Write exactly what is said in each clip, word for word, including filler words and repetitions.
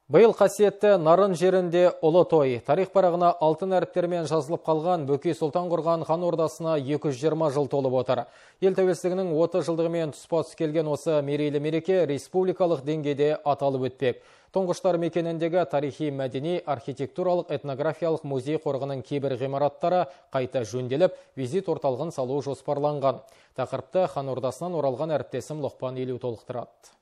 Биыл қасиетті Нарын жерінде ұлы той. Тарих парағына алтын әріптермен жазылып қалған Бөкей Сұлтан құрған хан ордасына екі жүз жиырма жыл толып отыр. Ел тәуелсіздігінің отыз жылдығымен тұспа-тұс келген осы мерейлі мереке республикалық деңгейде аталып өтпек. Тұңғыштар мекеніндегі тарихи мәдени архитектуралық этнографиялық музей қорығының кейбір ғимараттары қайта жөнделіп, визит орталығын салу жоспарланған. Тақырыпты хан ордасынан оралған әріптесім Лұқпан Елеу толықтырады.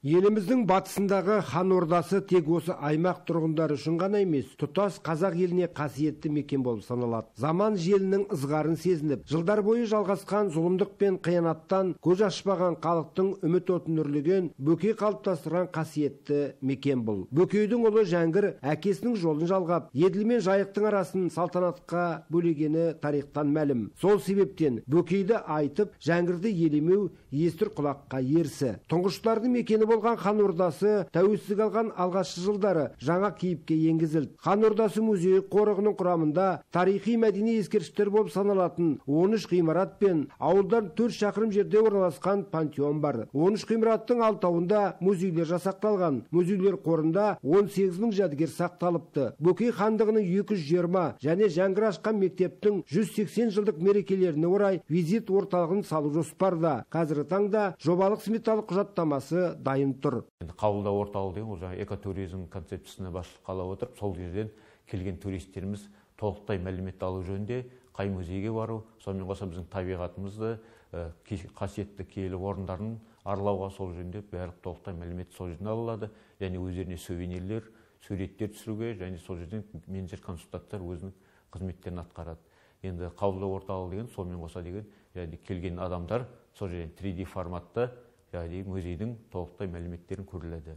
Еліміздің батысындағы хан ордасы тек осы аймақ тұрғындары үшін ғана емес, тұтас қазақ еліне қасиетті мекен болып саналады. Заман желінің ызғарын сезініп, жылдар бойы жалғасқан зұлымдық пен қиянаттан көз ашпаған халықтың үміт отын үрлеген Бөкей қалыптастырған қасиетті мекен бұл. Бөкейдің ұлы Жәңгір әкесінің жолын жалғап, Еділ мен Жайықтың арасын салтанатқа бөлегені тарихтан мәлім. Сол себептен Бөкейді айтып, Жәңгірді елемеу естір құлаққа ерсі. Тұңғыштардың мекені болған хан ордасы тәуелсіздік алған алғашқы жылдары жаңа кейіпке енгізілді. Хан ордасы музейі қорығының құрамында тарихи мәдени ескерткіштер болып саналатын он үш ғимарат пен ауылдан төрт шақырым жерде орналасқан пантеон бар. он үш ғимараттың алтауында музейлер жасақталған. Музейлер қорында он сегіз мың жәдігер сақталыпты. Бөкей хандығының екі жүз жиырма және Жәңгір ашқан мектептің жүз сексен жылдық мерекелеріне орай визит орталығын салу жоспарда. Қазіргі таңда жобалық сметалық құжаттамасы дайын тұр. Қабылдау орталығы деген ол жаңа экотуризм концепциясына басшылық ала отырып, сол жерден келген туристеріміз толықтай мәлімет алу жөнінде қай музейге бару, сонымен қоса біздің табиғатымызды, қасиетті киелі орындарын аралауға сол жөнінде барлық толықтай мәлімет сол жерден алынады. Және өздеріне сувенирлер, суреттер түсіруге және сол жерден менеджер консультанттар өзінің қызметтерін атқарады. Енді қабылдау орталығы деген сонымен қоса деген және келген адамдар сол жерден три дэ форматта яғни музейдің толықтай мәліметтерін көріледі.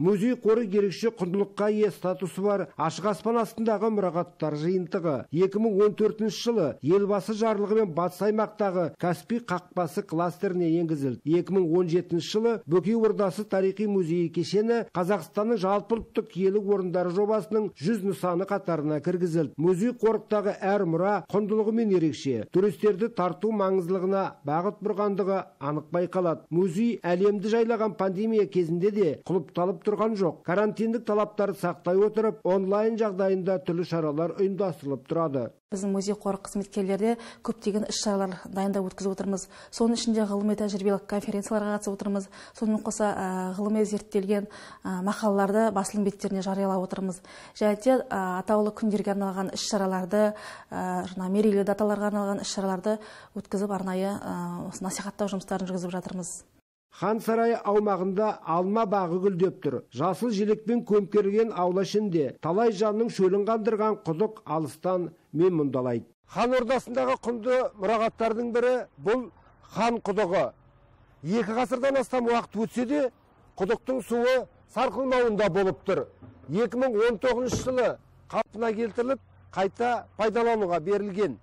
Музей қоры ерекше құндылыққа ие статусы бар ашық аспан астындағы мұрағаттар жиынтығы. екі мың он төртінші жылы елбасы жарлығымен батыс аймақтағы Каспий қақпасы кластеріне енгізілді. екі мың он жетінші жылы Бөкей ордасы тарихи музейі кешені Қазақстанның жалпыұлттық киелі орындары жобасының жүз нысаны қатарына кіргізілді. Музей қорықтағы әр мұра құндылығымен ерекше, туристерді тарту маңыздылығына бағыт бұрғандығы анық байқалады. Музей әлемді жайлаған пандемия кезінде де құлыпталып тұрған жоқ. Карантиндік талаптарды сақтай отырып, онлайн жағдайында түрлі шаралар ұйымдастырылып тұрады. Біздің музей қоры қызметкерлері көптеген іс-шаралар дайындап өткізіп отырмыз. Соның ішінде ғылыми тәжірибелік конференцияларға қатысып отырмыз. Сонымен қоса ғылыми зерттелген мақалаларды басылым беттеріне жариялап отырмыз. Және де атаулы күндерге арналған іс-шараларды, мерейлі даталарға арналған іс-шараларды өткізіп арнайы насихаттау жұмыстарын жүргізіп жатырмыз. Хан сарайы аумағында алма бағы гүлдеп тұр. Жасыл желекпен көмкерген аула ішінде талай жанның шөлін қандырған құдық алыстан мен мұндалайды. Хан ордасындағы құнды мұрағаттардың бірі бұл хан құдығы. Екі ғасырдан астам уақыт өтсе де, құдықтың суы сарқылмауында болып тұр. екі мың он тоғызыншы жылы қалпына келтіріліп, қайта пайдалануға берілген.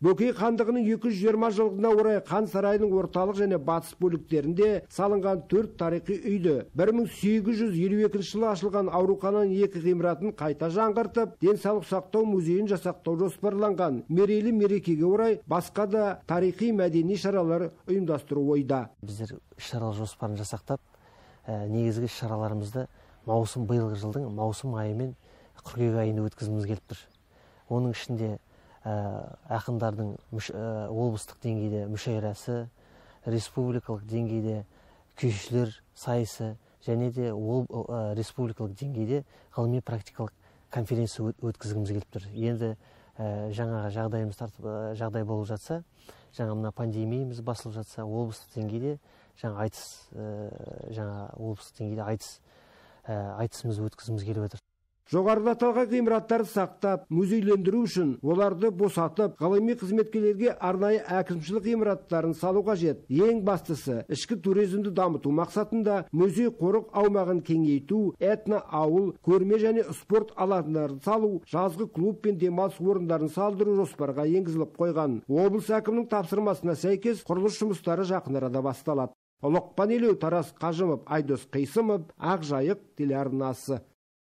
Бөкей хандығының екі жүз жиырма жылдығына орай хан сарайының орталық және батыс бөліктерінде салынған төрт тарихи үйді, бір мың сегіз жүз елу екінші жылы ашылған аурухананың екі ғимаратын қайта жаңғыртып, денсаулық сақтау музейін жасақтау жоспарланған. Мерейлі мерекеге орай басқа да тарихи мәдени шаралар ұйымдастыру ойда. Біздер шаралар жоспарын жасақтап, негізгі шараларымызды маусым биылғы жылдың маусым айы мен қыркүйек айында өткізгіміз келіп тұр. Оның ішінде ақындардың облыстық деңгейде мүшәйрасы, республикалық деңгейде күйшілер сайысы және де республикалық деңгейде ғылыми практикалық конференция өткізгіміз келіп тұр. Енді жаңа жағдайымыз жағдай болып жатса, жаңа мына пандемиямыз басылып жатса, облыстық деңгейде жаңа айтыс жаңа облыстық деңгейде айтыс айтысымызды өткізгіміз келіп отыр. Жоғарыда аталған ғимараттарды сақтап, музейлендіру үшін оларды босатып, ғылыми қызметкерлерге арнайы әкімшілік ғимараттарын салу қажет. Ең бастысы, ішкі туризмді дамыту мақсатында музей қорық аумағын кеңейту, этно ауыл, көрме және спорт алаңдарын салу, жазғы клуб пен демалыс орындарын салдыру жоспарға енгізіліп қойған. Облыс әкімінің тапсырмасына сәйкес құрылыс жұмыстары жақын арада басталады. Лұқпан Елеу, Тарас Қажымов, Айдос Қисымов, Ақ Жайық телеарнасы.